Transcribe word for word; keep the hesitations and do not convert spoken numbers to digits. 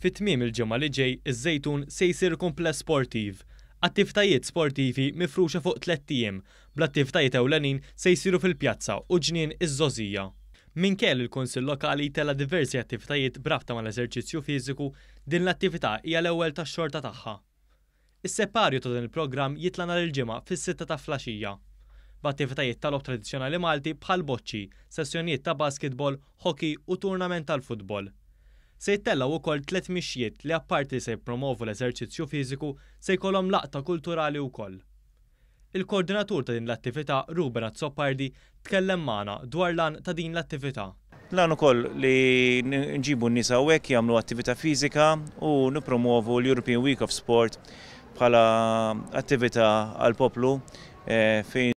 Fi tmiem il-ġimgħa li ġej, iż-Żejtun se jsir kumpless sportiv. Attivitajiet sportivi mifruxa fuq tlett ijiem, bl-attivitajiet ewlenin se jsiru fil-pjazza u Ġnien iż-Żgħożija. Minkejja li l-Kunsill Lokali tella' diversi attivitajiet b'rabta mal-eżerċizzju fiżiku, din l-attività hija l-ewwel tax-xorta tagħha. Is-separju ta' dan il-programm jitla' nhar il-Ġimgħa fis-sitta ta' filgħaxija, b'attivitajiet tal-logħob tradizzjonali Malti bħal boċċi, sessjonijiet ta' basketball, hockey u turnament tal-futbol. Se jittellgħu wkoll tliet mixjiet li, apparti li se jippromovu l-eżerċizzju fiżiku, se jkollhom laqta kulturali wkoll. Il-koordinatur ta' din l-attività, Ruben Azzopardi, tkellem magħna dwar l-għan ta' din l-attività. L-għan ukoll li nġibu n-nies hawnhekk jagħmlu attività fiżika u nippromovu l-European Week of Sport bħala attività għall-poplu eh, fejn